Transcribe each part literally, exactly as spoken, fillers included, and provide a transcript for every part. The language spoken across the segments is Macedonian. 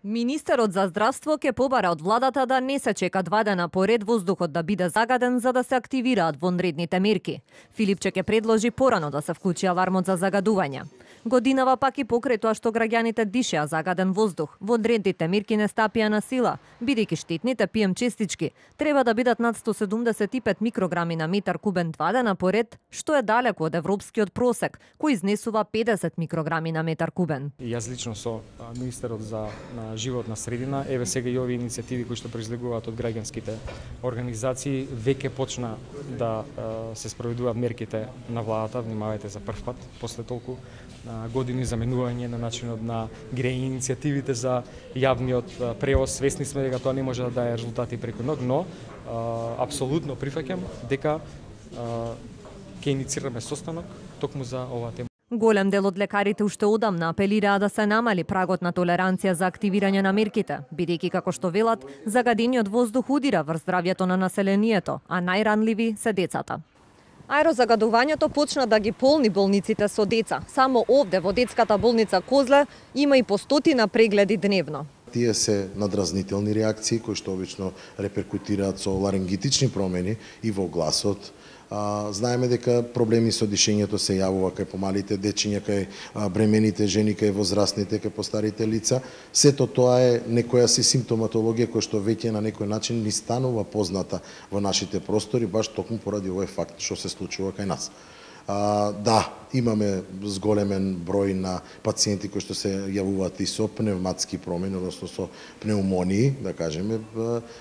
Министерот за здравство ќе побара од владата да не се чека два дена поред воздухот да биде загаден за да се активираат вонредните мерки. Филипче ќе предложи порано да се вклучи алармот за загадување. Годинава пак и покрај тоа што граѓаните дишеа загаден воздух, вонредните мерки не стапија на сила, бидејќи штетните пи ем честички треба да бидат над сто седумдесет и пет микрограми на метар кубен два дена поред, што е далеку од европскиот просек, кој изнесува педесет микрограми на метар кубен. Јас лично со министерот за на животна средина, еве сега и овие иницијативи кои што произлегуваат од граѓанските организации веќе почна да се спроведуваат мерките на владата, внимавајте за прв пат после толку години заменување на начинот на грејење иницијативите за јавниот превоз. Свесни сме дека тоа не може да даде резултати преку ног, но а, апсолутно прифаќам дека а, ќе иницираме состанок токму за оваа тема. Голем дел од лекарите уште одамна апелираа да се намали прагот на толеранција за активирање на мерките, бидејќи како што велат, загадениот воздух удира врз здравјето на населението, а најранливи се децата. Аерозагадувањето почна да ги полни болниците со деца. Само овде во детската болница Козле има и по стотина прегледи дневно. Тие се надразнителни реакции кои што обично реперкутираат со ларингитични промени и во гласот. А, знаеме дека проблеми со дишењето се јавува кај помалите дечиња, кај а, бремените жени, кај возрастните, кај постарите лица. Сето тоа е некоја си симптоматологија која што веќе на некој начин ни станува позната во нашите простори, баш токму поради овој факт што се случува кај нас. А, да, имаме зголемен број на пациенти кои што се јавуваат и со пневматски промени, односно со пнеумонии, да кажеме,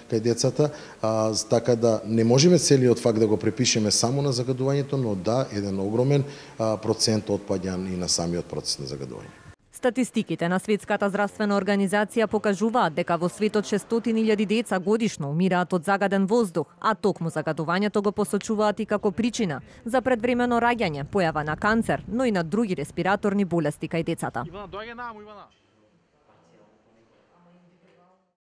кај децата. А, така да не можеме целиот факт да го препишеме само на загадувањето, но да, еден огромен а, процент отпаѓан и на самиот процес на загадување. Статистиките на Светската здравствена организација покажуваат дека во светот шестстотини илјади деца годишно умираат од загаден воздух, а токму загадувањето го посочуваат и како причина за предвремено раѓање, појава на канцер, но и на други респираторни болести кај децата.